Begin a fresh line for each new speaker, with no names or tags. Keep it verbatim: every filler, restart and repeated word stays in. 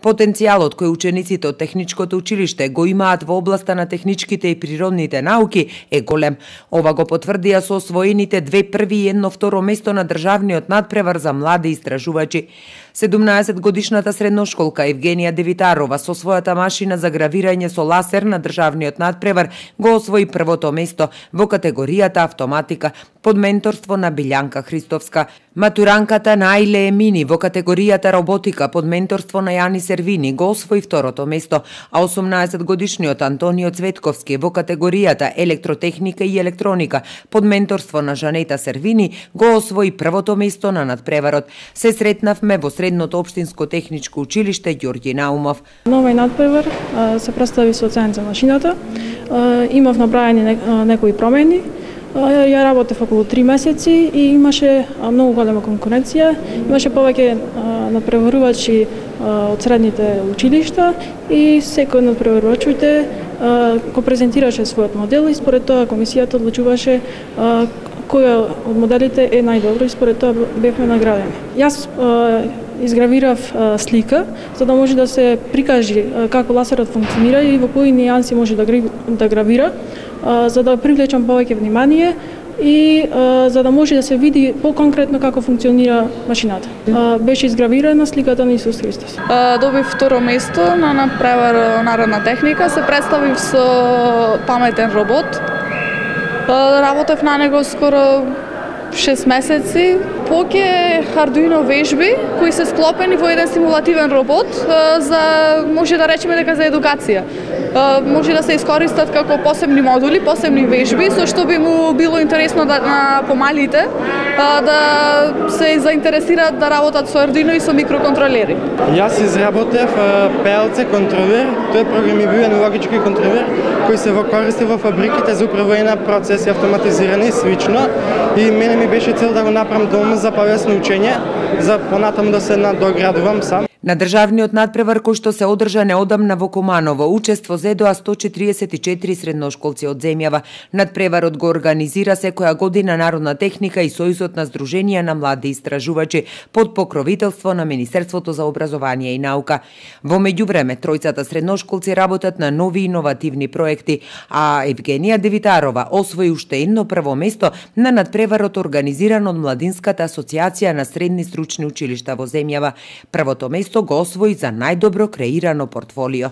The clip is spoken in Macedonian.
Потенцијалот кој учениците од техничкото училиште го имаат во областа на техничките и природните науки е голем. Ова го потврдија со освоените две први и едно второ место на државниот надпревар за млади истражувачи. седумнаесет годишната средношколка Евгенија Девитарова со својата машина за гравирање со ласер на државниот надпревар го освои првото место во категоријата автоматика под менторство на Билјанка Христовска. Матуранката Наиле Емини во категоријата роботика под менторство на Јани Сервини го освои второто место, а осумнаесет годишниот Антонио Цветковски во категоријата електротехника и електроника под менторство на Жанета Сервини го освои првото место на надпреварот. Се сретнавме во Средното општинско техничко училиште Ѓорѓи Наумов.
Новиот надпревар се представи со оценка за машината. Имав направени некои промени. Ја работев околу три месеци и имаше многу голема конкуренција. Имаше повеќе надпреварувачи од средните училишта и секој од надпреварувачите го презентираше својот модел и според тоа комисијата одлучуваше кој од моделите е најдобро и според тоа бевме наградени. Јас изгравирав слика за да може да се прикажи како ласерот функционира и во кои нијанси може да гравира, за да привлечам повеќе внимание и за да може да се види поконкретно како функционира машината. Беше изгравирана сликата на Исус Христос.
Добив второ место на надпревар народна техника, се представив со паметен робот. Работев на него скоро шест месеци. Поќе Arduino вежби кои се склопени во еден симулативен робот за може да речеме дека за едукација. Може да се искористат како посебни модули, посебни вежби, со што би му било интересно да, на помалите да се заинтересираат да работат со Arduino и со микроконтролери.
Јас изработев пе ел це контролер, тој е програмиран логички контролер кој се во користи во фабриките за управување на процеси автоматизирани и слично. И мене ми беше цел да го направам дома за повесно учење, за понатаму да се надоградувам сам.
На државниот надпревар кој што се одржа неодамна во Куманово, учество зедоа сто четириесет и четири средношколци од земјава. Надпреварот го организира секоја година Народна техника и Сојузот на здруженија на млади истражувачи под покровителство на Министерството за образование и наука. Во меѓувреме, тројцата средношколци работат на нови иновативни проекти, а Евгенија Девитарова освои уште едно прво место на надпреварот организиран од Младинската асоциација на средни стручни училишта во земјава. Првото место го освои за најдобро креирано портфолио.